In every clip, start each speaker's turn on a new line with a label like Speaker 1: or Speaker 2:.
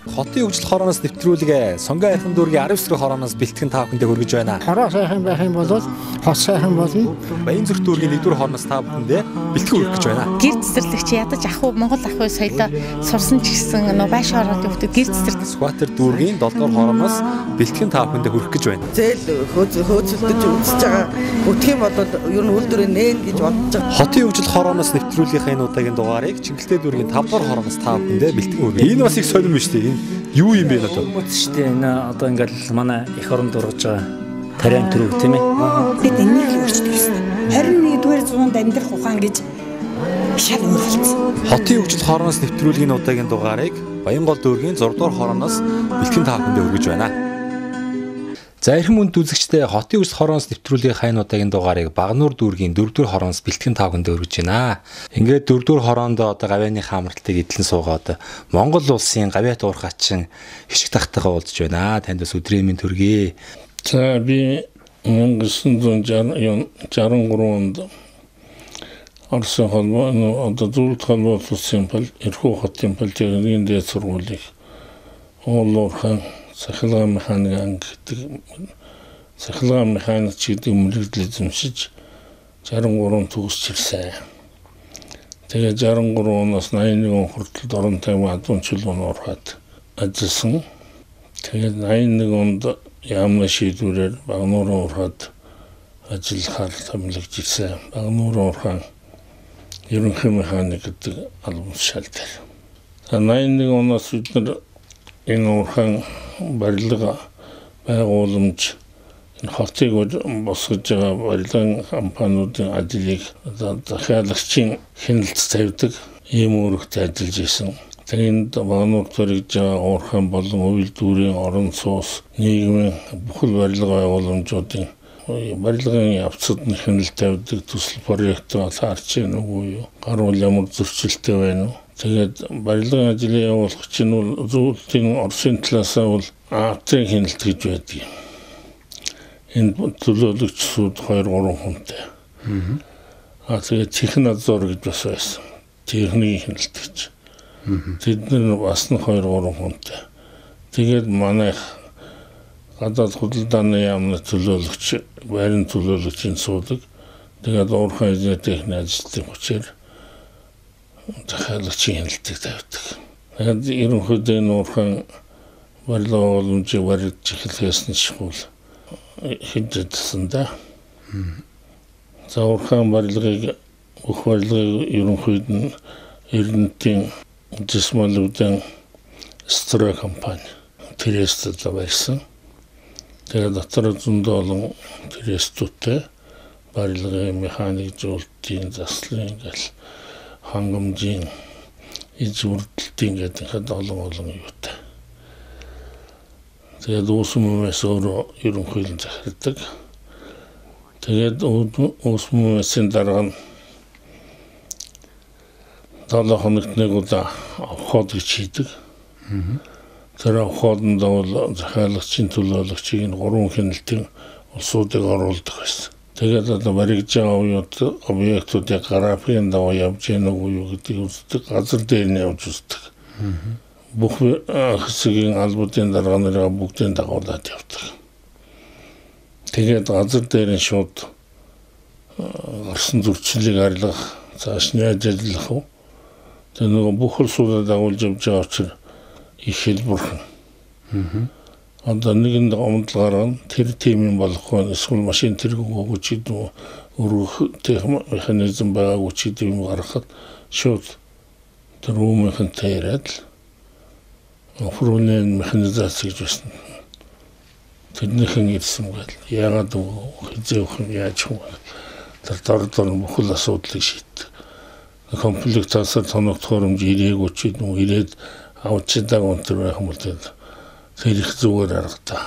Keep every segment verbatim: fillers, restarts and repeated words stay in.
Speaker 1: Хотын хөгжил хорооноос нэвтрүүлгээ Сонгон айхан дүүргийн арав эсрэг хорооноос бэлтгэн та бүхэндээ хүргэж байна.
Speaker 2: Хороо сайхан байх юм бол хот сайхан болно.
Speaker 1: Баян зүрх дүүргийн нэгдүгээр хорооноос та бүхэндээ бэлтгэн хүргэж байна.
Speaker 3: Гэр цэцэрлэгч ядаж ах уу Монгол ах уу соёлоо сурсан ч гэсэн нөө байш ороод өгдөг гэр цэцэрлэг.
Speaker 1: Скватер дүүргийн долдугаар хорооноос бэлтгэн та бүхэндээ хүргэх гэж байна.
Speaker 4: Зээл хөөцөлдөж үзэж байгаа бүтэх юм бол ер нь үйлдвэрээ нээн гэж бодож байгаа.
Speaker 1: Хотын хөгжил хорооноос нэвтрүүлгийнхаа энэ удаагийн дугаарыг Чингэлтэй дүүргийн тавдугаар хорооноос та бүхэндээ бэлтгэн хүргэж. Энэ бас их сонирм шүү дээ. Юу юм бэ надад?
Speaker 5: Шүү дээ. Энэ одоо ингээл манай эх оронд ургаж байгаа тариан төрөв тийм ээ.
Speaker 6: Бид энийг л өөрчилдөг гэсэн. харин нэгдүгээр зуунд амьдрах ухаан гэж шал өөр болсон.
Speaker 1: Хотын хөгжил хорооноос нэвтрүүлгийн удаагийн дугаарыг Баянгол дүүргийн зураг дугаар хорооноос бэлтгэн та бүхэндээ хүргэж байна. За эрхэм үнд үзэгчдээ хотын хөгжил хорооноос нэвтрүүлгийн хайн удаагийн дугаарыг Багнуур дүүргийн дөрөвдүгээр хорооноос бэлтгэн та бүхэндээ хүргэж байна. Ингээд дөрөвдүгээр хороонд одоо гавьяаны хамралтыг эдлэн суугаад Монгол улсын гавьяат уурхачин хишиг тахтайгаа уулзж байна. Танд бас өдрийн мэнд хүргэе.
Speaker 7: За би мянга зуун жарган гурван онд Орсын холбоо одоо зөвлөлт холбоо улсын пал Ирхүү хотын политехникийн дээд сургуулийг Оолуурхан сахилгаан механик анги гэдэг сахилгаан механик гэдэг мэргэжил эзэмшиж жарган гурван төгсч ирсэн. Тэгээ жарган гурван оноос найман нэг он хүртэл орон тайван адуун чулуун ороход ажилласан. Тэгээ найман нэг онд яамны шийдвэрээр Багнуурын урхад ажиллахаар томилогдож ирсэн. Багнуурын урхан ерөнхий механик гэдэг албан тушаалтай. найман нэг оноос бид нар энэ урхан барилга байгууламж энэ хотыг босгож байгаа барилгын компаниудын ажлыг захиалагчийн хяналт тавьдаг ийм үүрэгтэй ажиллаж исэн. Тэгээд Багнуур төрөж байгаа уурхайн болон үйлдвэрийн орон сууц нийгмийн бүхэл барилга байгууламжуудын барилгын явцад нь хяналт тавьдаг төсөл проект харж байна уу юу? Гаруул ямар зөрчилтэй байна уу? Тэгээд барилгын ажлын явуулах чинь бол зөвлөлтийн Оросын талаасаа бол ААТ-ийн хяналт гэж байдаг. Энэ төлөөлөгч суд хоёр гурван хүнтэй. Аа тэгээд технадзор гэж бас байсан. Техникийн хяналт гэж. Тэд нар бас нь хоёр гурван хүнтэй. Тэгээд манай гадаад худалдааны яамны төлөөлөгч, байрны төлөөлөгчийн суудаг. Тэгээд уурхайн эзний техникийн ажилтны хүчээр захиалагчийн хяналтыг тавьдаг. Тэгээд ерөнхийдөө энэ уурхайн барилга байгууламжийг баригдаж эхлэхээс нь шигүүл хэдэлсэн да. За уурхайн барилгыг бүх барилгыг ерөнхийд нь Эрдэнэтийн Жисмалуудын Стра компани Трест барьсан. Тэгээд дотор зөндөө олон Трестүүдтэй барилгын механик зөвлөлтийн заслын гэл хангамжийн иж бүрдэлтийн гэдэг олон олон юутай. Тэгээд уусмаас өөрөө ерөнхийдөө захирдаг. Тэгээд уусмаасын дараа нь долоо хоногт нэг удаа авахд гэж хийдэг. Тэр авахд бол захиалагчийн төлөөлөгчийг нь гурван хяналтын улсуудыг оруулдаг байсан. Тэгээд одоо баригдаж байгаа объектуудыг графикын дагуу явж яах уу юу гэдгийг үздэг, газар дээр нь явж үздэг. Бүх хэсгийн албуудын дарга нарыг бүгдийн дагуулад явдаг. Тэгээд газар дээр нь шууд гарсан зөрчлийг арилгах, цааш нь ажиллах уу? Тэр нэг бүх улсуудад дагуулж явж байгаа учраас их хэлбэрхэн. Одоо нэгэнд омдол гаргана тэр тимийн болохгүй эсвэл машин тэргүүг өгч идэв өргөх техник механизм байгаагүй ч идэв юм гаргахад шууд тэр үүмийнхэнтэй яриад л офрунын механизац гэж байсан. Тэрнийхэн ирсэн байл. Яагаад хизээх юм яаж юм тэр дор дор бүхэл асуудлыг шийддэг. Комплектасаар тоногдохоор юм ирээгүй ч идэв ирээд авчидаг өнтер байх юм бол тэр их зүгээр аргатай.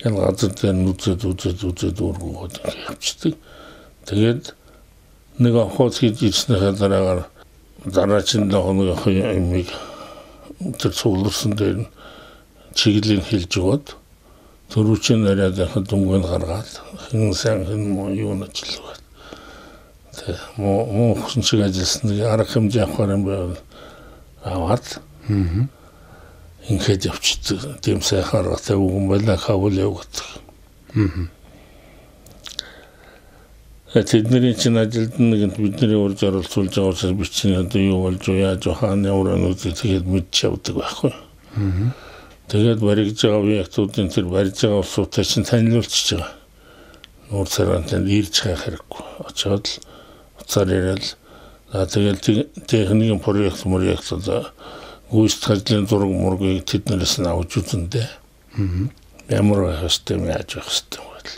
Speaker 7: Энэ газар дээр нүцэд үзэд үзэд өргөөгд явчихдаг. Тэгээд нэг авахд хийж ирснээр дараагаар дараачин нэг юмыг тэр цугларсан дээр чиглэлийг хэлж өгөөд төрүүчийн нараад хад дүнгийн гаргаад хэн сайн хэн муу юу нэжлэв. Тэ муу муу хүн шиг ажилласан нэг арга хэмжээ авахаар юм байв. Аваад ингээд явчихдаг. Тийм сайхан аргатай үгэн байлаа Кабул явдаг. Аа. Тэдний чинь ажилд нэгэнт бидний урьж оролцуулж байгаа учраас бичний одоо юу болж яаж хаана явраа нүд тэгээд мэдч явдаг байхгүй. Аа. Тэгээд баригж байгаа объектуудын тэр барьж байгаа улсуудтай чинь танилцуулж байгаа. Нуур царайнд ирж хайх хэрэггүй. Очоод л уцаар яриад за тэгээд техникийн проект мөрөйгт одоо гүйцэтгэлийн зураг мургийг тэднээс нь авч үзэндээ. Аа. Ямар байх ёстой юм яаж байх ёстой юм бол.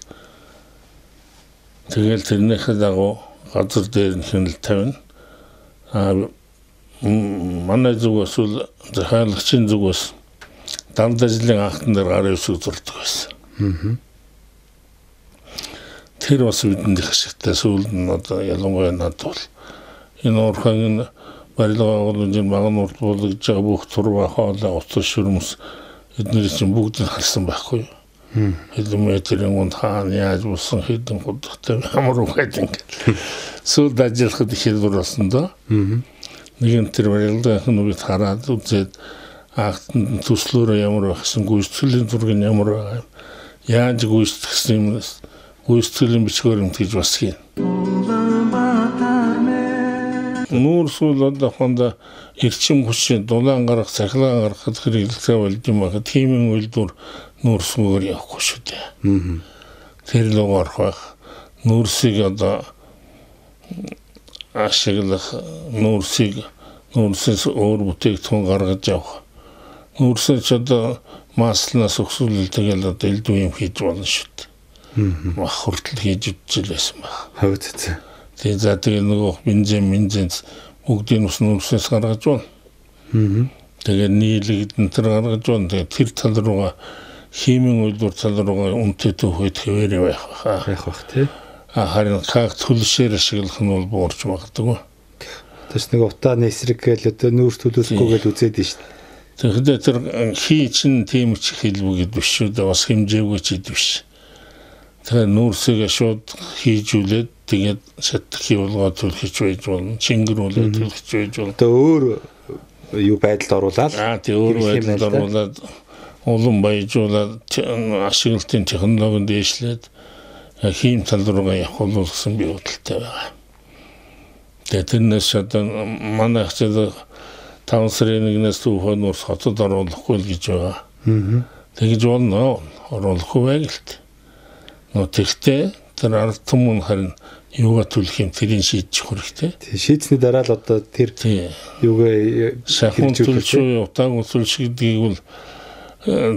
Speaker 7: Тэгэл тэрнийхээ дагуу газар дээр нь хянал тавина. Аа манай зүгээс бол захиалагчийн зүгээс дамд ажлын анхтан дээр гарын үсэг зурдаг байсан. Аа. Тэр бас бидэнд их ашигтай сүүлд нь одоо ялангуяа надад бол энэ уурхайн барилга байгууламжийн баган урд болгож байгаа бүх турва хоолой утас шүрмс эдгээр чинь бүгд харсан байхгүй юу? Хэдэн метрийн унд хаана яаж болсон хэдэн худалтай ямар үгээд ингээд сүүлд ажиллахад их хэлбэр болсон доо. Нэгэн тэр барилгын нүгт хараад үзээд ахтан төслөөрөө ямар байхсан гүйцэтгэлийн зураг нь ямар байгаа яаж гүйцэтгсэн юм гүйцэтгэлийн бичгээр юм гэж бас хийн. Нуур сул одоо хонда эрчим хүчин дулаан гарах цахилгаан гаргахад хэрэглэхээ болж юм аа тиймэн үйлдвэр нуур суугаар явахгүй шүү дээ. Тэр л орох байх. Нуурсыг одоо ашиглах нуурсыг нуурсээс өөр бүтээгдэхүүн гаргаж авах. Нуурсыг одоо маслнаас өксүүлэл тэгэл одоо элдв юм хийж болно шүү дээ. Мах хүртэл хийж үзчихлээсэн баг.
Speaker 1: Хавд цаа.
Speaker 7: Тэгээ за тэгээ нөгөө бензин бензин бүгдийн ус нуурсээс гаргаж байна. Аа. Тэгээ нийлэгдэн тэр гаргаж байна. Тэгээ тэр тал руугаа химийн үйлдвэр тал руугаа үнэтэй төвхөд хэвээр байх баха.
Speaker 1: Байх бах тий.
Speaker 7: А харин как төлшээр ашиглах нь бол буурч магадгүй.
Speaker 1: Тэс нэг утаа нэсрэг гээл одоо нүүрс төлөөсгүй гээл үзээд нь шүү дээ.
Speaker 7: Тэгэхээр тэр хий чин тийм ч хэлбэгэд биш шүү дээ. Бас хэмжээгүй ч ид биш. Тэгэхээр нүүрсийг шууд хийжүүлээд тэгээд шатхи болгоод төлөхч байж болно. Чингэрүүлээд төлөхч байж болно.
Speaker 1: Одоо өөр юу байдалд оруулаад
Speaker 7: аа тий өөр байдалд оруулаад улам баяжуулаад ашиглалтын технологид дээшлээд хийм тал руугаа явах бол гэсэн би бодолтой байгаа. Тэгээд тэрнээс одоо манай хэвчээ таван сарын нэгнээс түүхөө нуурс хотод оруулахгүй л гэж байгаа. Аа. Тэгж болно. Оруулахгүй байг л t. Но тэгтээ тэр ард түмэн харин юугаа төлөх юм тэрийг шийдчих хэрэгтэй.
Speaker 1: Тий шийдсний дараа л одоо тэр юугаа
Speaker 7: шахуун төлшөө утааг төлш гэдгийг бол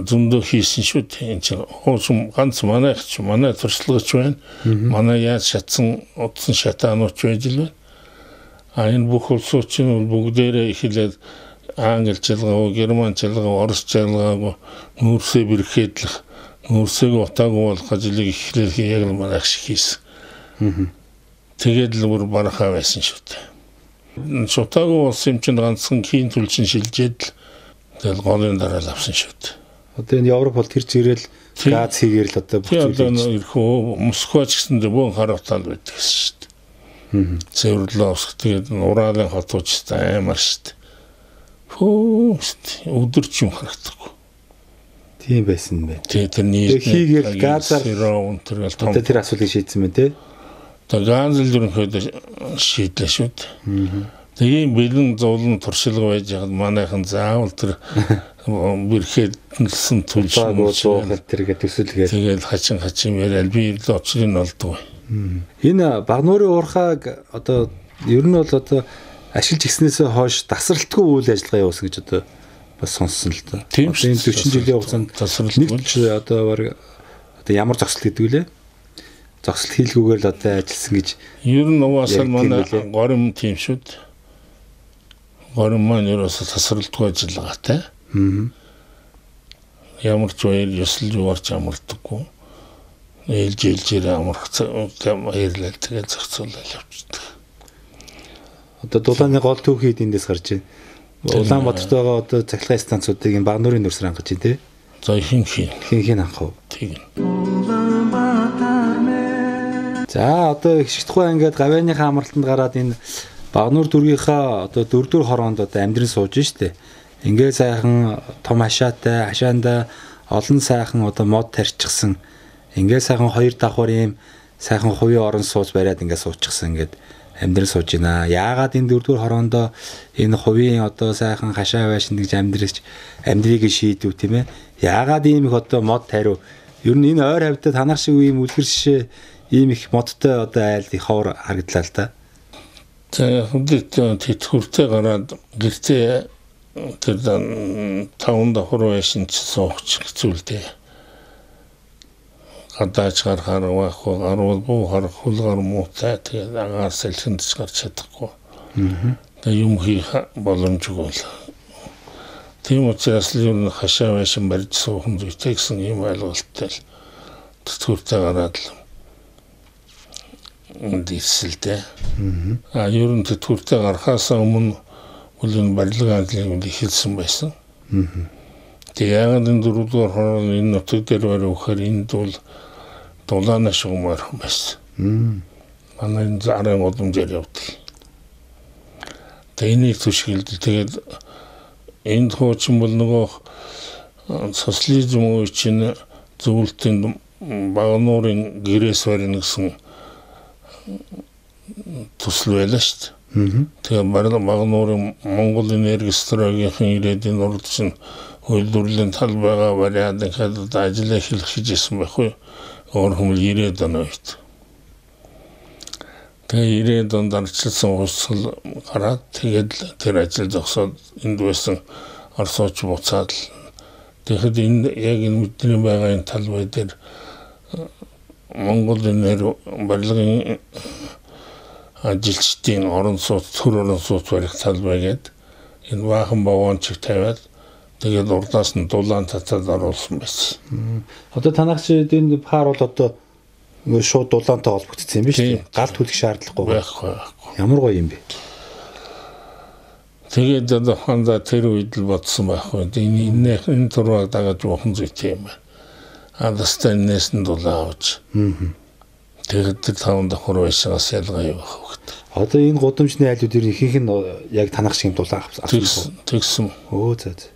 Speaker 7: зөндөө хийсэн шүү дээ. Энд чинь хоосон ганц манай ч манай туршлагач байна. Манай яаж шатсан утсан шатаанууч байж л байна. А энэ бүх улсууд чинь бүгдээрээ эхлээд англи чилгаа, герман чилгаа, орос чилгаа нүүрсээ бэрхээдлэх нүүрсийг утаагүй болох ажлыг эхлээх яг л манай шиг хийсэн. Тэгээд л бүр барахаа байсан шүү дээ. Утаагүй болсон юм чинь ганцхан хийн төлчин шилжээд л тэгэл голын дараа л авсан шүү дээ.
Speaker 1: Одоо энэ Европ бол тэр зэрэл газ хийгээр л одоо
Speaker 7: бүх зүйлийг ирхөө Москва ч гэсэндээ бөөн хар утаал байдаг гэсэн шүү дээ. Цэвэрлээс тэгээд Уралын хотууч аймар шүү дээ. Фөө өдөрч юм харагдахгүй.
Speaker 1: Тийм байсан бэ.
Speaker 7: Тэгээ тэр нийт
Speaker 1: хийгээл газар
Speaker 7: өнтөргөл том.
Speaker 1: Одоо тэр асуулыг шийдсэн мэн тий.
Speaker 7: Тэгээ газ л ерөнхийдөө шийдлээ шүү дээ. Тэгээ бэлэн зовлон туршилга байж хаад манайхан заавал тэр бэрхээдсэн төлшөө
Speaker 1: тэргээ төсөлгээд
Speaker 7: тэгээд хачин хачин яриад би л очлын олдгоо.
Speaker 1: Энэ Багнуурын уурхааг одоо ер нь бол одоо ашиглаж гиснээс хойш тасралтгүй үйл ажиллагаа явуулсан гэж одоо бас сонссон л та.
Speaker 7: Тийм шүү.
Speaker 1: Энэ дөрвөн жилийн хугацаанд тасралтгүй одоо баг одоо ямар зогсол гэдэг вэ? Зогсол хийлгүүгээр л одоо ажилласан гэж.
Speaker 7: Ер нь угаасаа манай горим тийм шүү дээ. Горим маань ерөөсө тасралтгүй ажиллагаатай. Аа. Ямар ч үеэр ёсол юуарч амардаггүй. Ээлж ээлжээр амарх баярлал тэгээд зохицуулаад явчихдаг.
Speaker 1: Одоо дулааны гол түүхийд эндээс гарч байна. Улаанбаатарт байгаа одоо цахилгаан станцуудыг энэ Багнуурын нөөцөр хангаж байна тий.
Speaker 7: За хин хин
Speaker 1: хин хин хангав.
Speaker 7: Тийм.
Speaker 1: За одоо их шигтхуй ингээд гавьяаныхаа амралтанд гараад энэ Багнуур дүүргийнхаа одоо дөрөвдүгээр хороонд одоо амьдран сууж штэ. Ингээ сайхан том хашаатай, хашаанда олон сайхан одоо мод тарьчихсан. Ингээ сайхан хоёр давхар ийм сайхан хувийн орон сууц бариад ингээ суучихсан ингээд амьдрал сууж байна. Яагаад энэ дөрөвдүгээр хороондоо энэ хувийн одоо сайхан хашаа байшин гэж амьдралч амьдрыг шийдв тийм ээ. Яагаад ийм их одоо мод тариу. Ер нь энэ ойр хавьтаа танах шиг ийм үлгэр шишээ ийм их модтой одоо айлд их ховор харагдлаа л да.
Speaker 7: За хөдөлтөө тэтгэвртэй гараад гэртээ тэр таван давхар байшин ч сууч зүйлтэй. Гадаач гарахаар байхгүй гарвал буу харах хулгаар муутай тэгээд агаар салхинд ч гарч чадахгүй. Тэгээд юм хийх боломжгүй л. Тийм учраас л юу хашаа байшин барьж суухан зүйтэй гэсэн юм ойлголттой л тэтгэвртэй гараад л дийсэлтэй. А ер нь тэтгэвртэй гарахаас өмнө үл барилгын ажлыг эхэлсэн байсан. Тэгээд яагаад энэ дөрөвдүгээр хорон энэ нутаг дээр барихаар энд бол дулаана шугамар байсан. Манай зарын удамжаар явдаг. Тэнийг түшгэлд тэгээд энд хуучин бол нөгөө социализм үеийн зөвлөлтөнд багнуурын гэрээс барина гэсэн төсөл байлаа шүү дээ. Тэгээд багнуурын Монгол энерги стратегийн ирээдүйн урд чинь үйлдвэрлэлийн талбайгаа бариад ингээд ажил эхлэх хийжсэн байхгүй. Орхом ирээд онойт. Тэгээд ирээд онд арчилсан усал гараад тэгээд тэр ажил зогсоод энд байсан орсооч буцаад тэгэхэд энэ яг энэ бидний байгаа энэ талбай дээр Монгол энерги барилгын ажилчдын орон сууц төр орон сууц барих талбай гээд энэ баахан бавончиг тавиад тэгээд урдаас нь дулаан татаад оруулсан байсан.
Speaker 1: Одоо танах шиг энэ пар бол одоо ингээ шууд дулаантай холбогдсон юм биш үү? Галт хүлэх шаардлагагүй
Speaker 7: байхгүй.
Speaker 1: Ямар гоё юм бэ?
Speaker 7: Тэгээд одоо ханда тэр үед л бодсон байхгүй. Энэ энэ энэ турваг дагаж жоохон зүйтэй юм байна. Адастан нэсэн дулаан авч. Тэгээд тэр таван давхар байшаас ялгаа юу байх вэ?
Speaker 1: Одоо энэ гудамжны айлууд ер нь ихэнх нь яг танах шиг дулаан авсан.
Speaker 7: Тэгсэн.
Speaker 1: Өө зөө.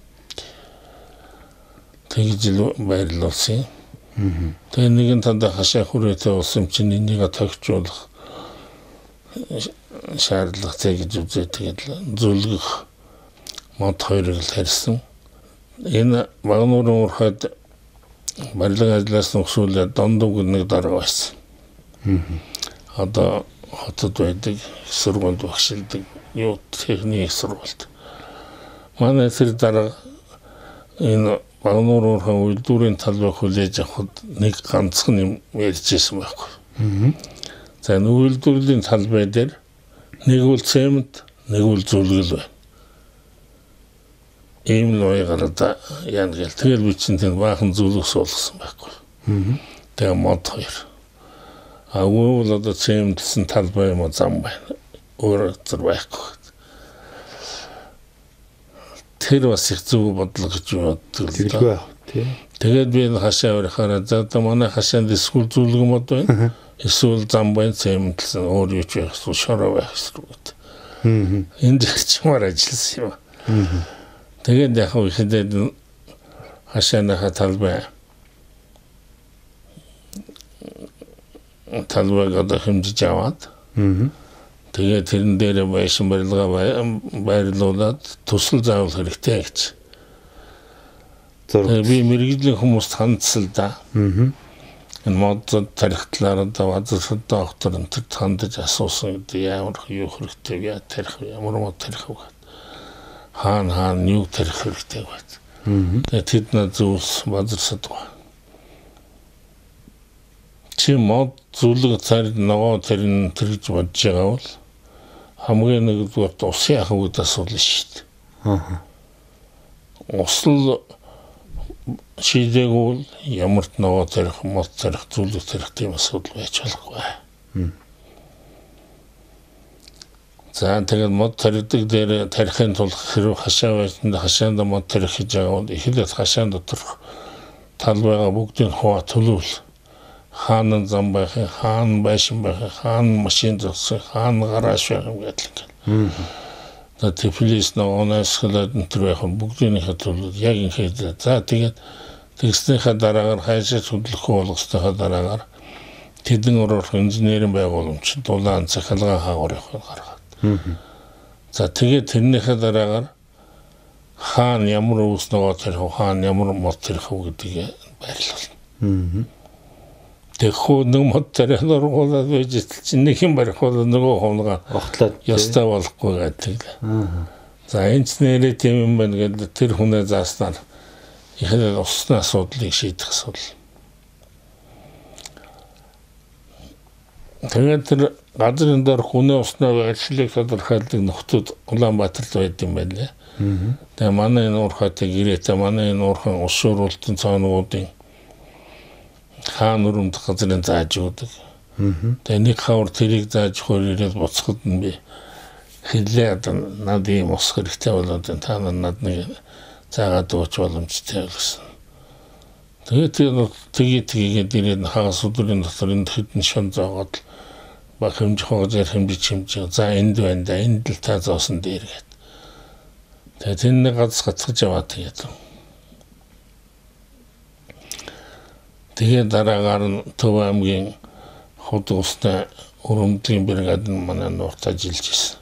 Speaker 7: Тэгж л байрлуулсан. Тэгээ нэгэн танд хашаа хүрээтэй болсон чинь энийг тогтжуулах шаардлагатай гэж үзээд тэгээд зөвлөх мод хоёрыг л харьсан. Энэ багнуурын урхад барилгын ажлаас нөхсүүлээд дондог нэг дарга байсан. Одоо хотод байдаг сургуульд багшилдаг юу техник сургуульд. Манай тэр дарга энэ багнуурын урхан үйлдвэрийн талбай хүлээж авахд нэг ганцхан юм ярьжсэн байхгүй. За үйлдвэрлэлийн талбай дээр нэг үл цемент, нэг үл зүлгэл байна. Ийм л байгаад яан гэл тэгэл би чинь тэр баахан зүлгэл суулгасан байхгүй. Тэгээ мод хоёр. А үйл одоо цементсэн талбай юм зам байна. Өөр зэр байхгүй. Тэр бас их зөв бодлого гэж боддог. Тэгээд би хашаа өрхөөрөө за одоо манай хашаанд эсвэл зүлгэн мод байна. Эсвэл зам байна, цементсэн өөр юу ч байх эсвэл шороо байх эсвэл. Энд чимээр ажилласан юм. Тэгээд яг ихэдээд хашааныхаа талбай талбайг одоо хэмжиж аваад тэгээд тэрэн дээр байшин барилгаа байрлуулад төсөл заавал хэрэгтэй гэж. Би мэрэгжлийн хүмүүст хандсал да. Энэ мод тарихтлаар одоо вазсад доктор энэ хандаж асуусан гэдэг ямар юу хэрэгтэй яа тарих ямар мод тарих вэ? Хаан хаан юу тарих хэрэгтэй вэ? Тэгээд тэд нэ зүйлс вазсад ба. Чи мод зүлэг царид нөгөө тэрэн тэрж бодож байгаа бол хамгийн нэгдүгээр усын ахуйд асуудал шүү дээ. Аа. Усл шийдэгүүл ямар ч нөгөө тарих мод тарих зүлэг тарих тийм асуудал байж болохгүй. За тэгээд мод тарихдаг дээр тарихын тулд хэрэг хашаа байсанд хашаанд мод тарих хийж байгаа бол эхлээд хашаан доторх талбайгаа бүгдийг хуваа төлөвл. Хаан зам байх, хаан байшин байх, хаан машин зогсох, хаан гараж байх гэдэг. За Тифлис ногоонаас хадаад энэ яг бүгдийн хатвал яг ингээд за тэгээд тэгснийхаа дараагаар хайшаа хөдлөхгүй болгосныхаа дараагаар тэдэн орох инженерийн байгууламж дулаан захалгаа хаагуурыг гаргаад. За тэгээд тэрнийхээ дараагаар хаан ямар ус нөгөө тэр хаан ямар мод тэр хав гэдгийг байрлуулна. Тэгэхгүй нэг мод тэр нургуулаад байж чинь нэг юм барихвал нөгөө хонгаа
Speaker 1: огтлоод
Speaker 7: ястаа болохгүй гэдэг. За энэ ч нэрээ тийм юм байна гэдэг тэр хүнээ зааснаар ихэнх усны асуудлыг шийдэх асуудал. Тэгээд тэр газрын дээр хүнээ уснаа ажиллах тодорхойлдог нөхдүүд Улаанбаатарт байд юм байна лээ. Тэгээ манай энэ уурхайтай гэрээтэй манай энэ уурхан ус шууруулалтын цаануудын хаан өрөмд газрын зааж өгдөг. Тэгээ нэг хавар тэрийг зааж хөрөөрөөд буцахад нь би хэлээд над ийм ус хэрэгтэй болоод та над нэг заагаад ууч боломжтой гэсэн. Тэгээд тэгээд тэгээд ирээд хагас өдрийн дотор энэ хэдэн шон зоогоод баг хэмжих хогжээр хэмжиж хэмжиж за энд байна да энд л та зоосон дээр гээд. Тэгээд энэ газ гацгаж яваад тэгээд. Тэгээд дараагаар нь Төв аймгийн хот устай өрөмдлийн бригад нь манай нурт ажиллаж ирсэн.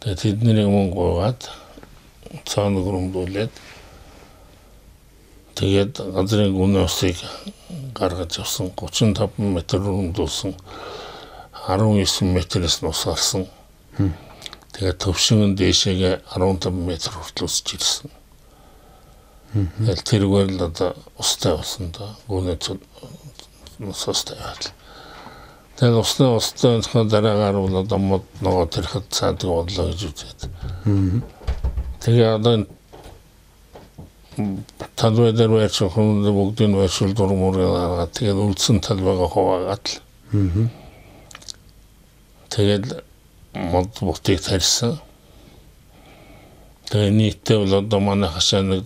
Speaker 7: Тэгээд тэднийг мөн гоогаад цаана өрөмдүүлээд тэгээд газрын гүн усыг гаргаж авсан гучин таван метр өрөмдүүлсэн арван девять метрээс нь ус гарсан. Тэгээд төвшин дээшээгээ арван таван метр хүртэл усж ирсэн. Тэгээд тэргээр л одоо устай болсон да. Гүнээ устай байл. Тэгээд усны устай дараагаар бол одоо мод нөгөө тэрхэд цаадаг бодлоо гэж үзээд. Тэгээд одоо талбай дээр байрч хүмүүс бүгдийн байршил дурмөр гаргаад тэгээд үлдсэн талбайгаа хуваагаад л. Тэгээд мод бутыг тарьсан. Тэгээд нийтдээ бол одоо манай хашаа нэг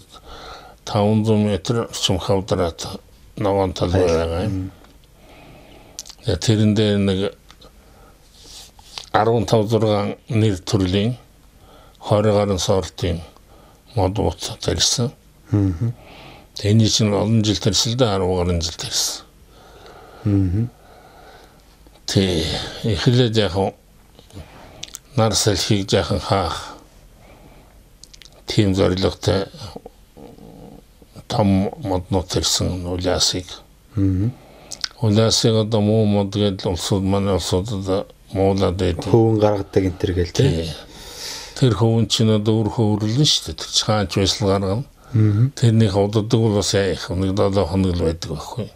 Speaker 7: таван зуун метр орчим хавдраад ногоон талбай байгаа юм. Тэгээд тэрэн дээр нэг арван тав зургаан нэр төрлийн хорь гарын сортын мод бут тарьсан. Тэний чинь олон жил тарьсан да арван гарын жил тарьсан. Тэ эхлээд яг нар салхийг жаахан хаах тийм зорилготой том моднууд тарьсан улаасыг. Улаасыг одоо муу мод гэдэг улсууд манай улсуудад муулаад байдаг.
Speaker 1: Хөвөн гаргадаг энэ төр гээл тий.
Speaker 7: Тэр хөвөн чинь одоо өөр хөвөрлөн шүү дээ. Тэр чаач байсал гаргана. Тэрний удаадаг бол бас яах нэг долоо хоног л байдаг байхгүй.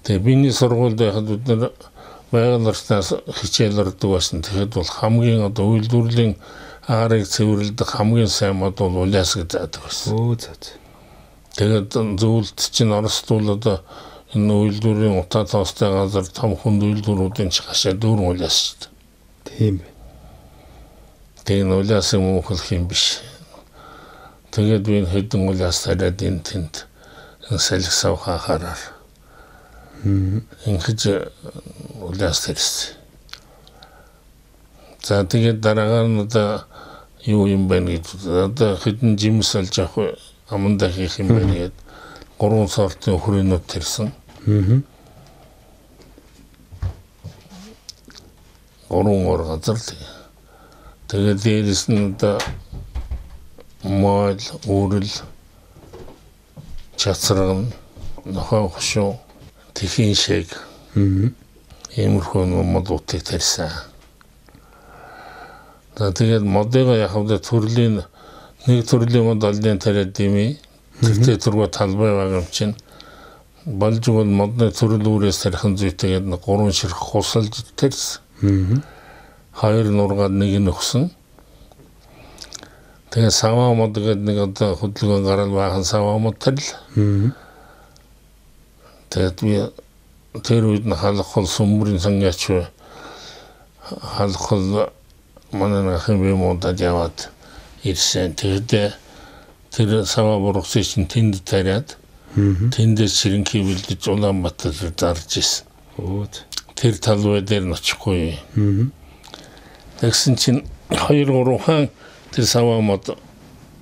Speaker 7: Тэгээ биний сургуульд байхад бид нар байгаль орчноос хичээл ордог байсан. Тэгэхэд бол хамгийн одоо үйлдвэрлэлийн аарыг цэвэрлэдэг хамгийн сайн мод бол улаас гэж заадаг байсан.
Speaker 1: Өө зөө.
Speaker 7: Тэгээд зөвлөлт чинь оростуул одоо энэ үйлдвэрийн утаа тоостой газар том хүнд үйлдвэрүүдийн ч гашаа дүүрэн улаас шүү дээ.
Speaker 1: Тийм байна.
Speaker 7: Тэгээд улаасан мөнхөлх юм биш. Тэгээд би хэдэн улаас тараад энэ тэнд салхи сав хахаараар. Ингээд улаас тарьсан. За тэгээд дараагаар нь одоо юу юм бэ гэж одоо хэдэн жимс олж авах амандаа хийх юм бэ гэдэг гурван сортын хүрээлүүд тарьсан. Гурван ор газар л. Тэгээд дээрэс нь одоо мал, үрэл, чацрагн, нохоо хошуу, тэхийн шиг. Иймэрхүү модуудыг тарьсан. Тэгээд модыг яхавд төрлийн нэг төрлийн мод олдын тариад дими тэртээ түргөө талбай байгаа юм чинь болж бол модны төрөл үрээс тарих зүйтэйгээд гурван ширх хусалж тарьсан. Хоёр нургаад нэг нь өгсөн. Тэгээ саваа мод гэдэг нэг одоо хөдөлгөөн гарал баахан саваа мод тарил. Тэгээд би тэр үед нь халахл сүмбрийн сангаач халахл манай нахын би модад яваад ирсэн. Тэгээд тэр саваа бургасыг чинь тэнд тариад тэндээс ширэнхий бэлдэж Улаанбаатар зарж ирсэн. Тэр талбай дээр нь очихгүй. Тэгсэн чинь хоёр гурван хаан тэр саваамад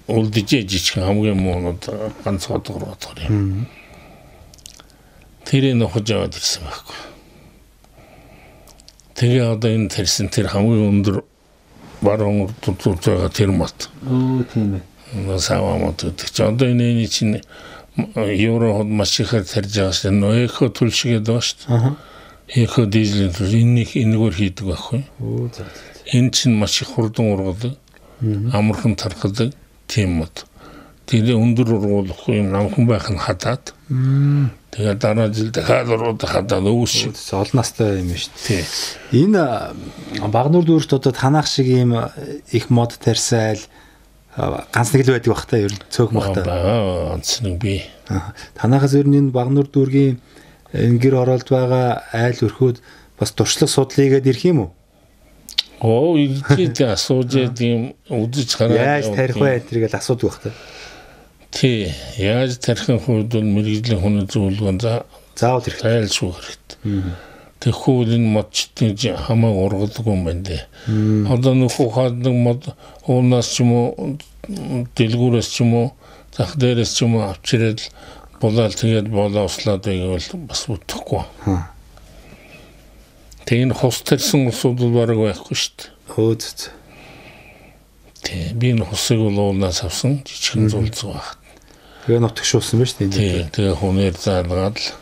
Speaker 7: үлдэж жижиг хамгийн муунууд ганц одгор бодгор юм. Тэрийг нөхөж яваад ирсэн байхгүй. Тэгээ одоо энэ тэрсэн тэр хамгийн өндөр баруун урд байгаа тэр мат.
Speaker 1: Оо тийм ээ.
Speaker 7: Саваамад гэдэг чинь одоо энэ чинь евро маш ихээр тарьж байгаа шүү дээ. Эхо түлшгээд байгаа шүү дээ. Эхо дизелийн түл энийг энэгээр хийдэг байхгүй.
Speaker 1: Оо за.
Speaker 7: Энэ чинь маш их хурдан ургадаг. Амархан тархадаг тийм мод. Тэгээ өндөр ургуулахгүй юм намхан байх нь хадаад. Тэгээ дараа жил дахиад урууд хадаад өвс.
Speaker 1: Олон настай юм шүү дээ. Энэ Багнуур дүүрт одоо танах шиг ийм их мод тарьсайл ганц нэг л байдаг бах та ер нь цөөх мах та.
Speaker 7: Ганц нэг би.
Speaker 1: Танахаас ер нь энэ Багнуур дүүргийн энэ гэр оролд байгаа айл өрхөөд бас туршлага судлаагээд ирэх юм уу?
Speaker 7: Оо ийдээ асууж ийм үдэж хараад
Speaker 1: яаж тарих вэ тэргээл асуудаг бах та.
Speaker 7: Тий, яаж тарихын хувьд бол мэрэгжлийн хүний зөвлөгөө
Speaker 1: заавал хэрэгтэй
Speaker 7: айлшгүй хэрэгтэй. Тэгэхгүй энэ модчдын хамааг ургадаг юм байна дээ. Одоо нөхөө хаадаг мод уунаас ч юм уу дэлгүүрээс ч юм уу зах дээрээс ч юм уу авчирэл болоод тэгээд болоослаад байвал бас утахгүй. Тэгээд хос тарьсан усуд бол бараг байхгүй шүү дээ.
Speaker 1: Хөөц.
Speaker 7: Тий, би энэ хосыг бол уунаас авсан жижигэн зулцгаа баг.
Speaker 1: Тэгээ нутгшуулсан ба шүү дээ.
Speaker 7: Тэгээ хүнээр заалгаад л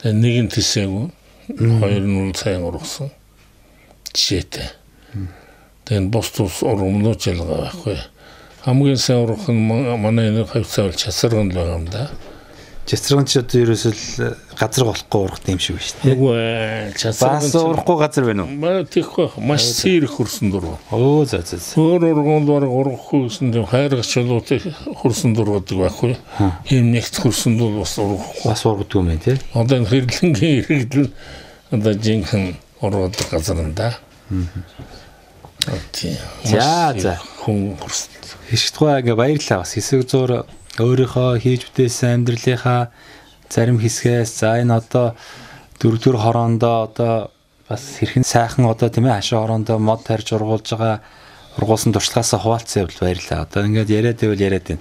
Speaker 7: тэгээ нэг нь тисээгүй хоёр нь сайн ургасан жишээтэй. Тэгээ бос тус ургамнууд ялгаа байхгүй. Хамгийн сайн ургах нь манай энэ хавцаавал часарган л байгаа юм да.
Speaker 1: Часарган ч одоо ерөөсөл газар болохгүй ургах юм шиг байна шүү дээ.
Speaker 7: Үгүй часарган
Speaker 1: бас ургахгүй газар байна уу?
Speaker 7: Маа тийхгүй маш сэрх хурсан дуруу.
Speaker 1: Оо за за.
Speaker 7: Өөр ургамд бараг ургахгүй гэсэн юм хайргач чулуутай хурсан дургадаг байхгүй. Ийм нэгт хурсан дуу бас ургахгүй.
Speaker 1: Бас ургадаг юм байна тий.
Speaker 7: Одоо энэ хэрлэнгийн иргэдэл одоо жинхэнэ ургадаг газар нь да. Аа. Тий.
Speaker 1: За за.
Speaker 7: Хүн хурсан.
Speaker 1: Хишгтгой ингээ баярлалаа бас хэсэг зур өөрийнхөө хийж бүтээсэн амьдралынхаа зарим хэсгээс за энэ одоо дөрөвдүгээр хороондоо одоо бас хэрхэн сайхан одоо тийм ээ хашаа хороондоо мод тарьж ургуулж байгаа ургуулсан туршлагаас хуваалцсан явдал баярлалаа. Одоо ингээд яриад байвал яриад байна.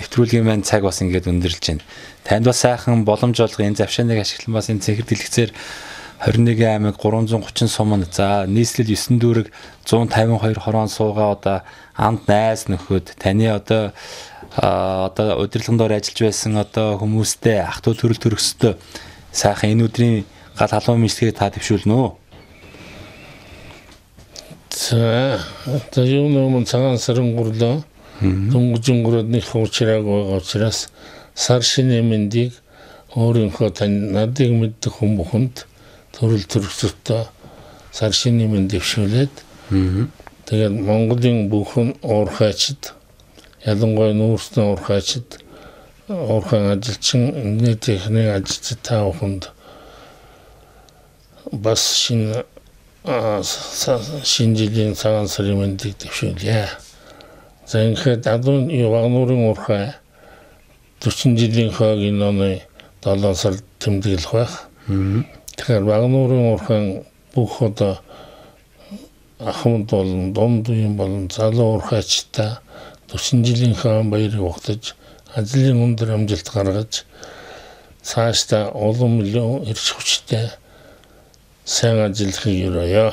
Speaker 1: Нэвтрүүлгийн маань цаг бас ингээд өндөрлж байна. Танд бас сайхан боломж олго энэ завшааныг ашиглан бас энэ цэнхэр дэлгэцээр двадцать нэг аймаг гурван зуун гучин суманд за нийслэл девять дүүрэг one fifty-two хороон суугаа одоо амд найз нөхөд таны одоо одоо удирдлагын доор ажиллаж байсан одоо хүмүүстэй ах トゥ төрөл төрөстэй сайхан энэ өдрийн гал халуун мэдлэгийг та дэвшүүлнэ үү?
Speaker 7: За одоо юу нэмэн цагаан сарын гурлаа дөнгөжин гурад нэг хуучрааг байгаа учраас сар шинэ мэндийг өөрийнхөө тань надыг мэддэг хүн бүхэнд төрөл төрөстэй сар шинэ мэнд дэвшүүлээд тэгээд Монголын бүхэн уурхайчд ялангуяа нүүрсний уурхайчд уурхайн ажилчин нийт техник ажилчид та бүхэнд бас шинэ шинэ жилийн цагаан сарын мэндийг дэвшүүлье. За ингээд адуун Багнуурын уурхай forty жилийн хойгийн оны долоо сард тэмдэглэх байх. Тэгэхээр Багнуурын уурхайн бүх одоо ахмад болон дунд үеийн болон залуу уурхайчтай forty жилийн хаан баярыг угтаж ажлын өндөр амжилт гаргаж цаашдаа олон миллион эрч хүчтэй сайн ажиллахыг өрөөё.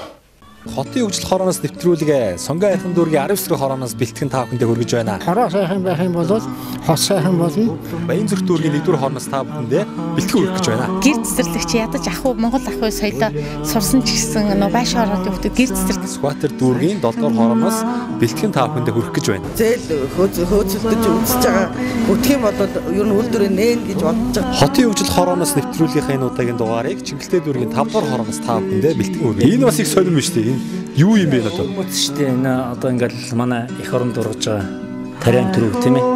Speaker 1: Хотын хөгжил хорооноос нэвтрүүлгээ Сонгон айхан дүүргийн арав эсрэг хорооноос бэлтгэн та бүхэндээ хүргэж байна.
Speaker 2: Хороо сайхан байх юм бол хот сайхан болно.
Speaker 1: Баянзүрх дүүргийн нэгдүгээр хорооноос та бүхэндээ бэлтгэн хүргэж байна.
Speaker 3: Гэр цэцэрлэгч ядаж ах уу Монгол ах уу соёлоо сурсан ч гэсэн нөө байш ороод явдаг гэр цэцэрлэг
Speaker 1: Скватер дүүргийн долдугаар хорооноос бэлтгэн та бүхэндээ хүргэж гэж байна.
Speaker 4: Зээл хөөцөлдөж үзэж байгаа үтх юм бол ер нь үйлдвэрээ нээн гэж бодож байгаа.
Speaker 1: Хотын хөгжил хорооноос нэвтрүүлгийнхаа энэ удаагийн дугаарыг Чингэлтэй дүүргийн five дугаар хорооноос та бүхэндээ бэлтгэн хүргэж. Энэ бас их сонирм шүү дээ. Юу юм бэ надад?
Speaker 5: Үгүй ээ энэ одоо ингээл манай эх оронд ургаж байгаа тариан төрөв тийм ээ.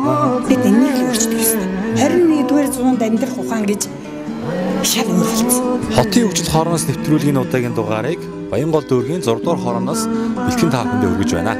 Speaker 6: Бид энийг л өөрчдөг гэсэн. twenty-нэгдүгээр зуунд амьдрах ухаан гэж шал өөр болсон.
Speaker 1: Хотын хөгжил хорооноос нэвтрүүлгийн удаагийн дугаарыг Баянгол дүүргийн six дугаар хорооноос бэлтгэн та бүхэндээ хүргэж байна.